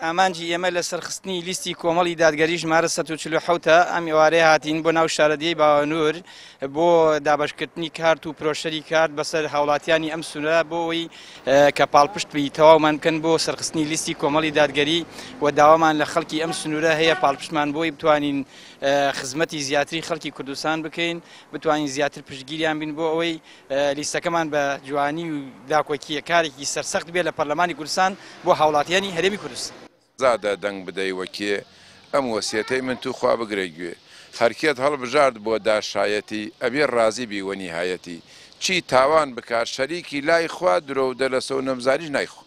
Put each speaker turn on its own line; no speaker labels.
ئامانجی ئێمە لە سەرخستنی لیستی کۆمەڵی دادگەری ژمارە 147 ئەم ئێوارەیە هاتین بۆ ناو شارەدێی باوەنور بۆ دابەشکردنی کارت و پرۆشەری کارت بەسەر هاوڵاتیانی ئەم سنوورە بۆ ئەوەی کە پاڵپشت بی تەواومان بکەن بۆ سەرخستنی لیستی کۆمەڵی دادگەری و داوامان لە خەڵکی ئەم سنوورە هەیە پاڵپشتمان بۆی بتوانین خزمەتی زیاتری خەڵکی کوردستان بکەین بتوانین زیاتر پشتگیریان بین بۆ ئەوەی لیستەکەمان بە جوانی و داکۆکییە کارێکی سەرسەخت بێت لە پەرلەمانی کوردستان بۆ هاوڵاتیانی هەرێمی کوردستان.
زادە دەنگ بدەی وە کێ ئەم وەسیەتەی من توخوا بگرە گوێ هەرکێت هەڵبژارد بۆ دا شایەتی ئەبێ ڕازی بی وە نیهایەتی چی تاوان بکات شەریکی لای خوا درۆو دەلەسەو نەمزانیش نایخوا.